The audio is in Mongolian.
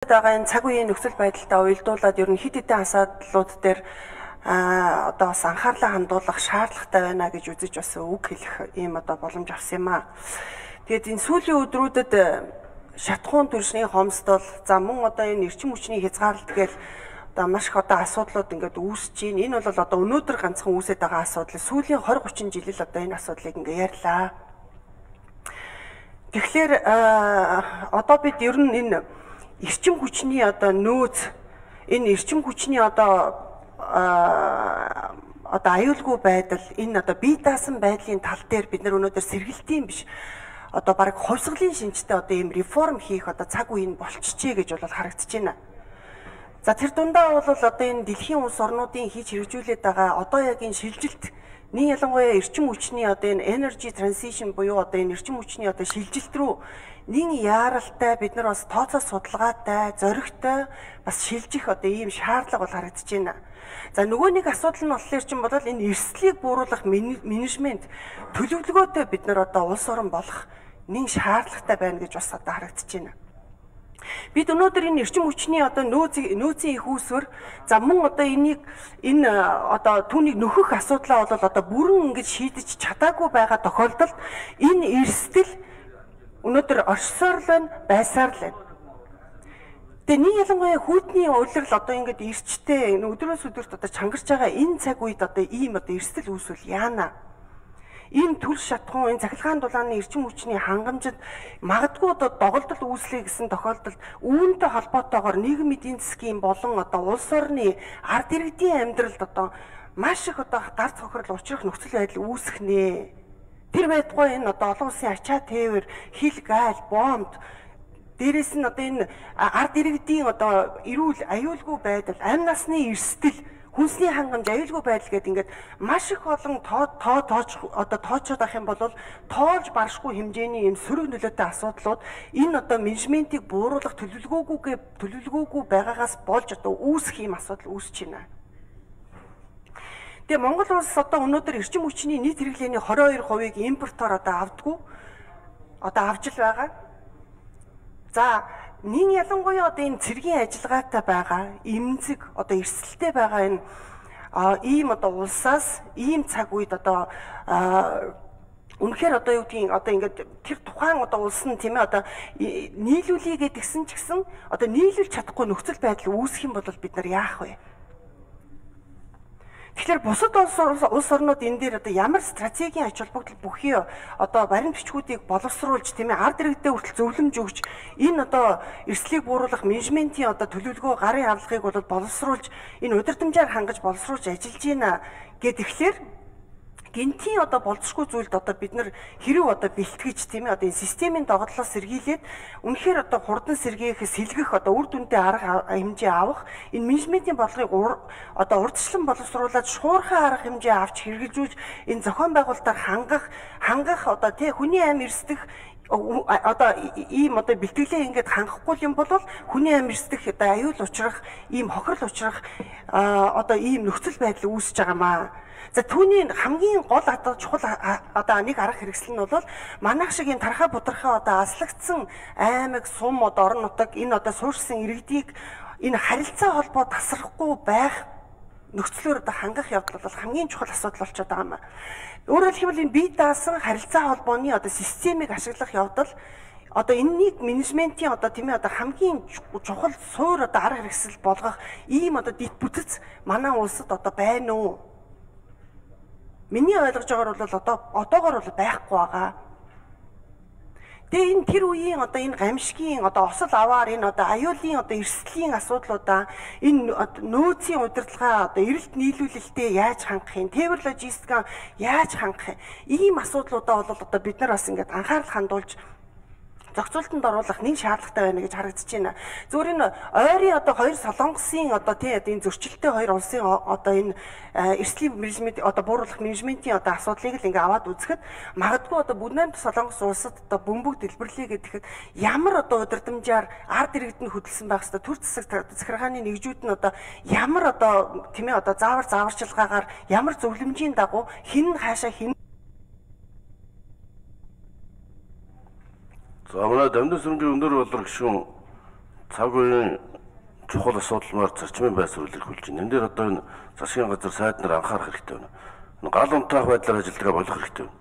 байгаа энэ цаг үеийн нөхцөл байдалтай уялдуулаад ер нь хэд хэдэн асуудлууд дээр одоо бас анхаарлаа хандуулах шаардлагатай байна гэж үзэж бас үг хэлэх ийм одоо боломж авсан юм аа. Тэгээд энэ сүүлийн өдрүүдэд шатхуун төршний хомсдол за мөн одоо энэ эрчим хүчний хязгаарлалт гээл одоо маш их одоо асуудлууд ингээд үүсэж байна. Энэ бол одоо өнөөдөр ганцхан үүсэж байгаа асуудал. Сүүлийн 20-30 жил л одоо энэ асуудлыг ингээд ярьлаа. Тэгэхээр одоо бид ер нь энэ эрчим хүчний одоо нөөц энэ эрчим хүчний одоо аюулгүй байдал энэ одоо бие даасан байдлын тал дээр бид нар өнөөдөр сэргэлтийн биш одоо баг хувьсгалын шинжтэй одоо ийм реформ хийх одоо цаг үе нь болчихжээ гэж бол харагдаж байна. За тэр дундаа бол одоо энэ дэлхийн улс орнуудын хийж хэрэгжүүлээд байгаа одоо яг энэ шилжилт нэг ялангуяа эрчим хүчний одоо энэ energy transition буюу одоо энэ эрчим хүчний одоо шилжилт рүү нэг яаралтай бид нар бас тооцоо судалгаатай зоригтой бас шилжих одоо ийм шаардлага бол харагдаж байна. За нөгөө нэг асуудал нь болохоор чинь бодвол энэ эрсдлийг бууруулах менежмент төлөвлөгөөтэй бид нар одоо улс орон болох нэг шаардлагатай байна гэж бас одоо харагдаж байна. Бид өнөөдөр энэ эрчим хүчний одоо нөөцийн их үүсвэр за мөн одоо энэ одоо түүнийг нөхөх асуудлаа бол одоо бүрэн ингэж шийдэж чадаагүй байгаа тохиолдолд энэ эрсдэл өнөөдөр оршсоор л байна, байсаар л байна. Тэгээ нэг ялангуяа хүйтний улирал одоо ингэж ирчтэй өдрөөс өдөрт одоо чангарч байгаа энэ цаг үед одоо ийм одоо эрсдэл үүсвэл яана. Энэ төл шатхуун энэ цахилгаан дулааны эрчим хүчний хангамжид магадгүй одоо доголдол үүслэе гэсэн тохиолдолд үүнтэй холбоотойгоор нийгмийн эдийн засгийн болон одоо улс орны ард иргэдийн амьдралд одоо маш их одоо гарц хохирол учрах нөхцөл байдал үүсэх нэ. Тэр байтугай энэ одоо олон улсын ачаа тээвэр, хил гайл, бомб дээрээс нь одоо энэ ард иргэдийн одоо эрүүл аюулгүй байдал, амь насны эрсдэл хүнсний хангамж аюулгүй байдал гэдэг ингээд маш их олон тоочод авах юм бол тоолж баршгүй хэмжээний юм сөрөг нөлөөтэй асуудлууд энэ одоо менежментийг бууруулах төлөвлөгөөгүй байгаагаас болж одоо үүсэх юм асуудал үүсэж байна. Тэгээ Монгол улс одоо өнөөдөр эрчим хүчний нийт хэрэглээний 22%-ийг импортоор одоо авдаггүй одоо авж л байгаа. За нэг ялангуяа одоо энэ цэргийн ажиллагаатай байгаа эмзэг одоо эрсдэлтэй байгаа энэ ийм одоо улсаас ийм цаг үед одоо үнэхээр одоо юу гэдгийг одоо ингээд тэр тухайн одоо улс нь тийм ээ одоо нийлүүлээ гэдгсэн ч гэсэн одоо нийлүүлж чадахгүй нөхцөл байдал үүсэх юм бол бид нар яах вэ? Тэгэхээр бусад улс орнууд энэ дээр одоо ямар стратегийн ач холбогдол бүхий одоо баримт бичгүүдийг боловсруулж тийм ээ ард иргэдэд хүртэл зөвлөмж өгч энэ одоо эрсдлийг бууруулах менежментийн одоо төлөвлөгөө гарын авлагыг бол боловсруулж энэ удирдамжаар хангаж боловсруулж ажиллаж байна гэхээр гинтийн одоо болцсохгүй зүйлд одоо бид нар хэрэг одоо бэлтгэж тийм ээ одоо энэ системийн доголдолоос сэргийлээд үнэхээр одоо хурдан сэргийхээс сэлгэх одоо үр дүнтэй арга хэмжээ авах энэ менежментийн бодлогыг одоо урдчлан боловсруулад шуурхай арга хэмжээ авч хэрэгжүүлж энэ зохион байгуулалтаар хангах одоо тий хүний амь эрсдэх одоо ийм одоо бэлтгэлээ ингээд хангахгүй юм бол хүний амь эрсдэх одоо аюул учрах ийм хохирол учрах одоо ийм нөхцөл байдал үүсэж байгаамаа. За түүний хамгийн гол одоо чухал одоо нэг арга хэрэгсэл нь бол манайх шиг энэ тархаа будрахаа одоо аслагдсан аймаг сум одоо орон нутаг энэ одоо суурьсан иргэдийг энэ харилцаа холбоо тасрахгүй байх нөхцлөөр одоо хангах явдал бол хамгийн чухал асуудал болчиход байгаа юм. Өөрөөр хэлбэл энэ бие даасан харилцаа холбооны одоо системийг ашиглах явдал одоо энэнийг менежментийн одоо тийм ээ одоо хамгийн чухал суур одоо арга хэрэгсэл болгох ийм одоо дэд бүтэц манай улсад одоо байна уу? Миний ойлгож байгаагаар бол одоогоор бол байхгүй байгаа. Тэгээ энэ тэр үеийн одоо энэ гамшигын одоо осол аваар энэ одоо аюулын одоо эрсдлийн асуудлуудаа энэ нөөцийн удирдлагаа одоо эрэлт нийлүүлэлтэд яаж хангах юм, тээвэр логистикаа яаж хангах юм, ийм асуудлуудаа бол одоо бид нар бас ингээд анхаарал хандуулж зохицуултанд оруулах нэг шаардлагатай байна гэж харагдаж байна. Зүгээр энэ ойрын одоо хоёр солонгосын одоо тий энэ зөрчилтэй хоёр улсын одоо энэ эрсдлийн менежмент одоо бууруулах менежментийн одоо асуудлыг л ингээ аваад үзэхэд магадгүй одоо Бүнэм солонгос улсад одоо бөмбөг дэлбэрлэе гэхэд ямар одоо удирдамжаар ард иргэд нь хөдөлсөн байх хэвээр төр засаг захиргааны нэгжүүд нь одоо ямар одоо тийм ээ одоо зааварчилгаагаар ямар зөвлөмжийн дагуу хин хаашаа хин За манай Дамжин сүмгийн өндөр болрог гишүүн цаг үеийн чухал асуудалмаар зарчмын байр суурь илэрхийлж байна. Энэ дээр одоо энэ засгийн газар сайд нар анхаарах хэрэгтэй байна. Гал унтраах байдлаар ажиллагаа болох хэрэгтэй байна.